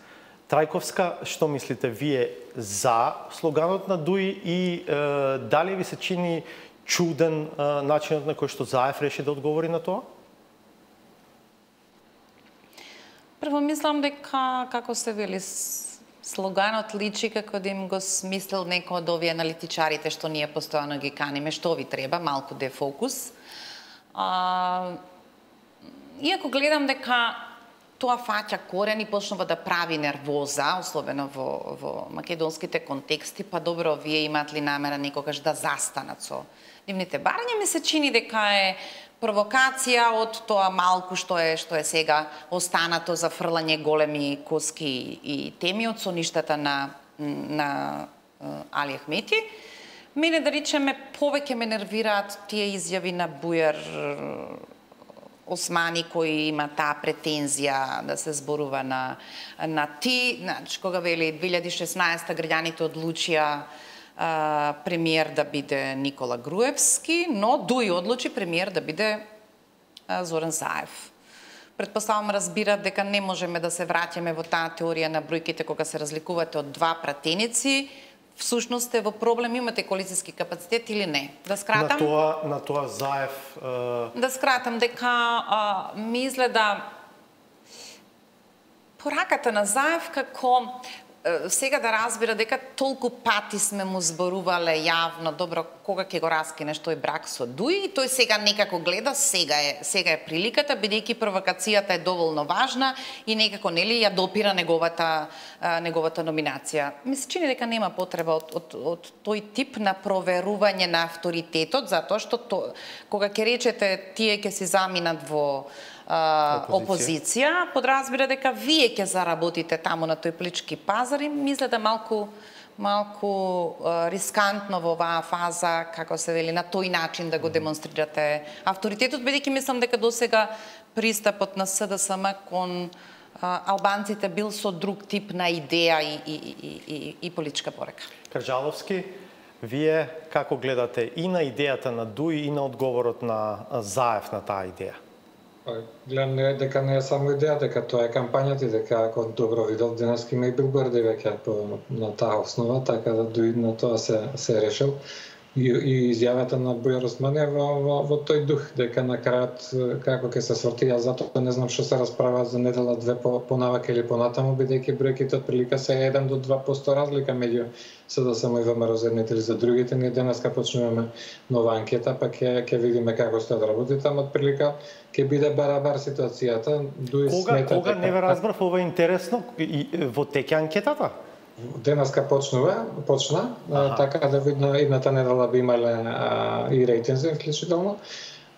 [SPEAKER 1] Трајковска, што мислите вие за слоганот на Дуи и дали ви се чини чуден начинот на кој што Заев реши да одговори на тоа?
[SPEAKER 4] Прво мислам дека, како се вели, слоганот личи како да им го смислил некој од овие аналитичарите што ние постојано ги каниме, што ви треба, малку дефокус. Иако гледам дека тоа фаќа корен и почнува да прави нервоза, особено во македонските контексти, па добро, вие имаат ли намера некогаш да застанат со нивните барања, ми се чини дека е провокација од тоа малку што е сега останато за фрлање големи коски и теми од соништата на Али Ахмети. Мене, да речеме, повеќе ме нервираат тие изјави на Бујар Османи, кој има таа претензија да се зборува на ти. Значи, кога вели 2016 граѓаните одлучија премиер да биде Никола Груевски, но Дуи одлучи премиер да биде Зоран Заев. Предпоставам, разбира дека не можеме да се враќаме во таа теорија на бројките кога се разликувате од два пратеници. Всушност е во проблем, имате коалицијски капацитет или не? Да скратам?
[SPEAKER 1] На тоа Заев...
[SPEAKER 4] Да скратам дека ми изгледа пораката на Заев како сега да разбира дека толку пати сме му зборувале јавно, добро, кога ќе го раскинеш тој брак со Дуи, и тој сега некако гледа, сега е приликата, бидејќи провокацијата е доволно важна и некако нели ја допира неговата номинација. Ми се чини дека нема потреба од тој тип на проверување на авторитетот, затоа што кога ќе речете тие ќе си заминат во опозиција, подразбира дека вие ќе заработите таму на тој политички пазар и мисля да малку рискантно во оваа фаза, како се вели, на тој начин да го демонстрирате авторитетот, бидејќи мислам дека досега пристапот на СДСМ кон албанците бил со друг тип на идеја и политичка порека.
[SPEAKER 1] Карджаловски, вие како гледате и на идејата на Дуи и на одговорот на Заев на таа идеја?
[SPEAKER 5] Гледам дека не е само идеја, дека тоа е кампањата и дека, ако добро видов, денеска има и билборди веќе на таа основа, така да Дуи на тоа се решил. И изјавата на Бујар Османи во тој дух, дека на крајот како ќе се сорти, јас затоа не знам што се расправа за недела две понавака или понатаму, бидејќи бројките отприлика се 1 до 2% разлика меѓу СДСМ и ВМРО за едните или за другите. Ние денеска почнуваме нова анкета, па ќе видиме како стојат работите, ама отприлика ќе биде барабар ситуацијата. Дуи смета
[SPEAKER 1] кога не ве разбрав, ова е интересно, во теќе анкетата?
[SPEAKER 5] Денеска почна, така да видно едната недела би имале и рейтинзи вклучително.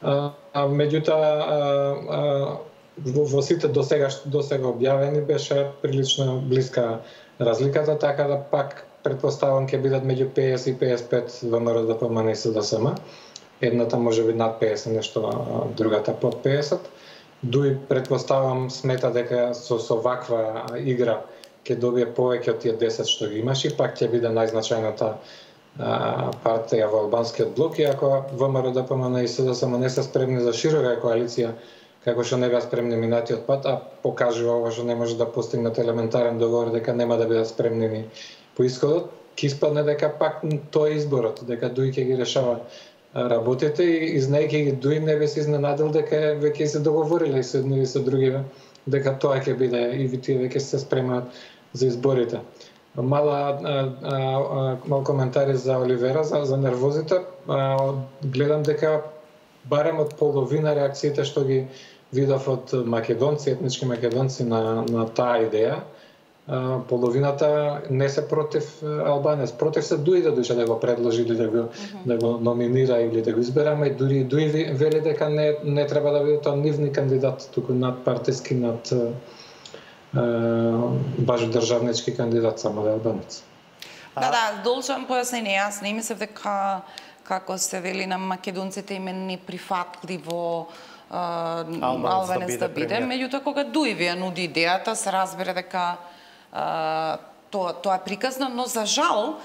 [SPEAKER 5] Меѓутоа во сите досега објавени беше прилично блиска разликата, така да пак предпоставам ќе бидат меѓу 50 и 55 ВМРО ДПМН и СДСМ. Едната може би над 50, нешто другата под 50. Дуи предпоставам смета дека со ваква игра ќе добие повеќе од тие 10 што ги имаш и пак ќе биде најзначајната партија во албанскиот блок, и ако ВМРО ДПМН и СДСМ не се спремни за широка коалиција, како што не беа спремни минатиот пат, а покажува ова што не може да постигнат елементарен договор, дека нема да бидат спремни ни по исходот, ќе испадне дека пак тој изборот, дека Дуи ќе ги решава работите и знаејќи ги Дуи не би се изненадил дека веќе се договориле со едни и со други, дека тоа ќе биде и тие веќе се спремаат за изборите. Мал коментари за Оливера, за нервозите. Гледам дека барем од половина реакциите што ги видов од македонци, етнички македонци на таа идеја, половината не се против Албанец. Против се Дуи да душе да го предложи или да го номинира или да го избераме. И дури Дуи вели дека не треба да биде тоа нивни кандидат, туку надпартиски, над баш државнички кандидат, само да е албанец.
[SPEAKER 4] Да, должам појаснение. Јас не мислев дека, како се вели, на македонците им е неприфатливо албанец да биде. Меѓутоа, кога Дуи ви ја нуди идејата, се разбира дека тоа е приказно, но за жал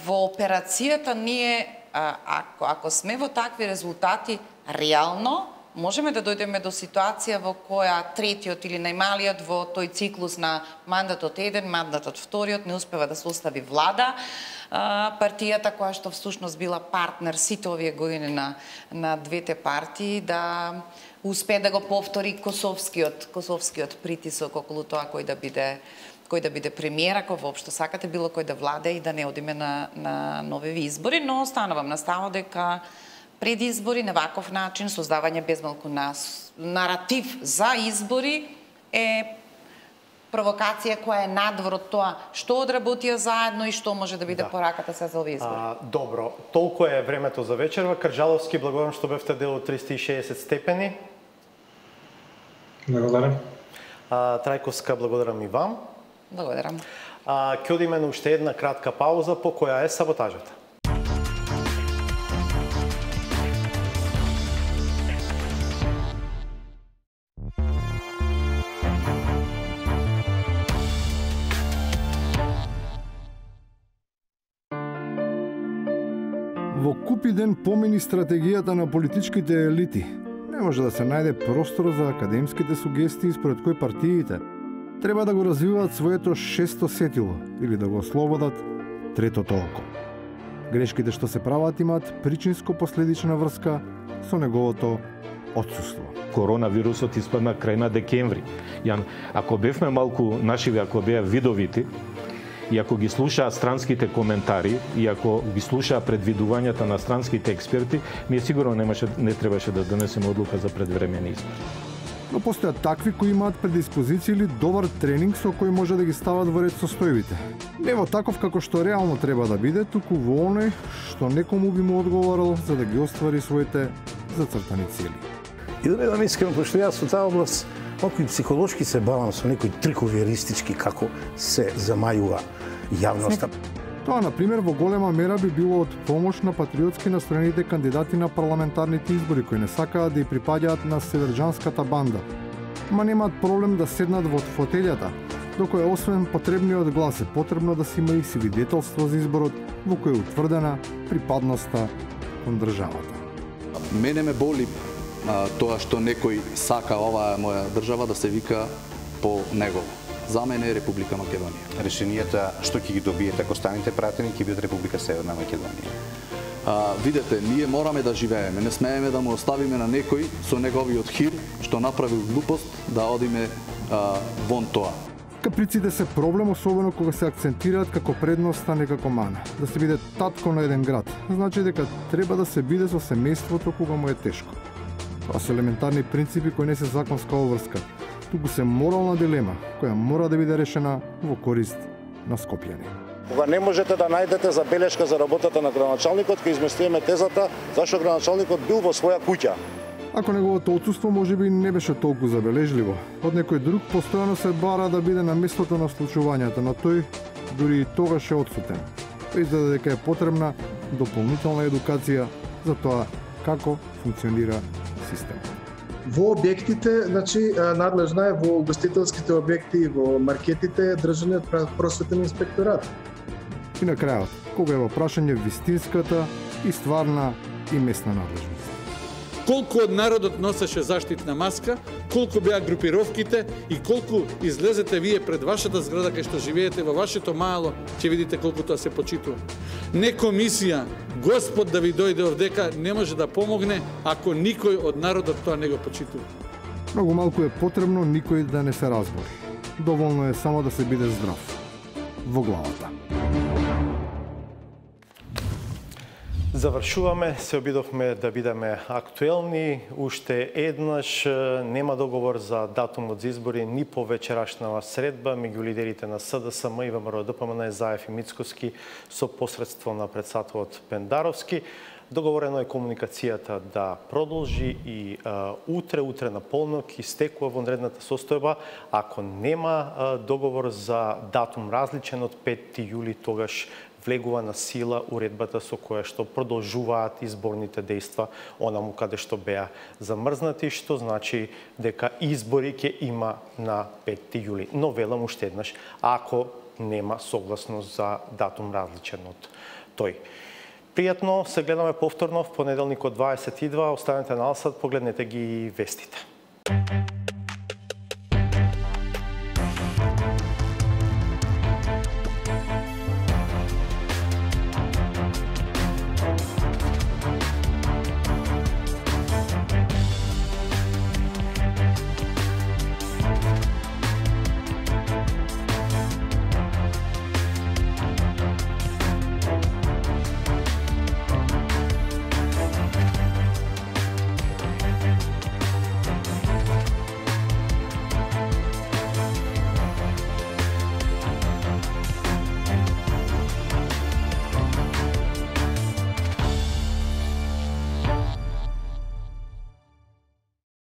[SPEAKER 4] во операцијата ние, ако сме во такви резултати, реално можеме да дојдеме до ситуација во која третиот или најмалиот во тој циклус на мандатот еден, мандатот вториот не успева да состави влада. Партијата која што всушност била партнер сите овие години на двете партии да успее да го повтори косовскиот притисок околу тоа кој да биде премиер, ако воопшто сакате било кој да владе и да не одиме на нови избори, но останувам на ставот дека пред избори на ваков начин создавање безмалку на наратив за избори е провокација која е надвор од тоа што одработија заедно и што може да биде пораката се за овие избори.
[SPEAKER 1] Добро, толку е времето за вечерва. Крджаловски, благодарам што бевте дел од 360 степени.
[SPEAKER 5] Благодарам.
[SPEAKER 1] Трајковска, благодарам и вам.
[SPEAKER 4] Благодарам.
[SPEAKER 1] Ќе одиме на уште една кратка пауза по која е саботажата.
[SPEAKER 6] Во купи ден помини стратегијата на политичките елити. Не може да се најде простор за академските сугестии според кои партиите треба да го развиваат своето шесто сетило или да го ослободат третото око. Грешките што се прават имаат причинско-последична врска со неговото отсуство.
[SPEAKER 7] Коронавирусот испадна крај на декември. Ако бевме малку нашиви, ако беа видовити, и ако ги слушаа странските коментари, и ако ги слушаа предвидувањата на странските експерти, ми сигурно не требаше да донесеме одлука за предвремени избори.
[SPEAKER 6] Но постојат такви кои имаат предиспозиција или добар тренинг со кој може да ги стават во ред состојбите. Не во таков како што реално треба да биде, туку во оној што некому би му одговорил за да ги оствари своите зацртани цели.
[SPEAKER 8] И да бидам искрен, пошто јас со таа област малку и психолошки се бавам со некои трикови еристички како се замајува јавноста.
[SPEAKER 6] Тоа, например, во голема мера би било од помош на патриотски настроените кандидати на парламентарните избори кои не сакаат да ја припаѓаат на северџанската банда. Ма немаат проблем да седнат во фотелјата, докој освен потребниот глас е потребно да се има и свидетелство за изборот во кој е утврдена припадноста кон државата.
[SPEAKER 9] Мене ме боли тоа што некој сака оваа моја држава да се вика по него. За мене е Република Македонија.
[SPEAKER 10] Решенијата што ќе ги добиете ако станете пратени ќе бидат Република Северна Македонија.
[SPEAKER 9] Видете, ние мораме да живееме, не смееме да му оставиме на некој со неговиот хир што направил глупост да одиме вон тоа.
[SPEAKER 6] Каприците се проблем, особено кога се акцентираат како предност, а не како мана. Да се биде татко на еден град, значи дека треба да се биде со семејството кога му е тешко. Тоа се елементарни принципи кои не се законска обврска, туку се морална дилема која мора да биде решена во корист на скопјани.
[SPEAKER 2] Кога не можете да најдете забелешка за работата на градоначалникот, ќе изместиме тезата зашто градоначалникот бил во своја куќа.
[SPEAKER 6] Ако неговото отсуство можеби не беше толку забележливо, од некој друг постојано се бара да биде на местото на случувањата, но тој дури и тогаш е отсутен. Изгледа дека е потребна дополнителна едукација за тоа како функционира системот.
[SPEAKER 11] Во објектите, значи, надлежна е во угостителските објекти и во маркетите држаниот просветен инспекторат.
[SPEAKER 6] И на крајот, кога е во прашање вистинската и стварна и местна надлежност.
[SPEAKER 12] Колку од народот носеше заштитна маска, колку беа групировките и колку излезете вие пред вашата зграда кај што живеете во вашето мало, ќе видите колку тоа се почитува. Не комисија, Господ да ви дојде овдека не може да помогне ако никој од народот тоа не го почитува.
[SPEAKER 6] Многу малку е потребно никој да не се разбори. Доволно е само да се биде здрав во главата.
[SPEAKER 1] Завршуваме, се обидовме да бидеме актуелни. Уште еднаш нема договор за датумот за избори ни по вечерашнава средба меѓу лидерите на СДСМ и ВМРО ДПМН Заев и Мицкоски со посредство на председателот Пендаровски. Договорено е комуникацијата да продолжи и утре на полнок истекува вонредната состојба. Ако нема договор за датум различен од 5 јули, тогаш влегува на сила уредбата со која што продолжуваат изборните дејства онаму каде што беа замрзнати, што значи дека избори ќе има на 5 јули. Но велам уште еднаш, ако нема согласност за датум различен од тој. Пријатно се гледаме повторно в понеделник од 22, останете на Алсат, погледнете ги вестите.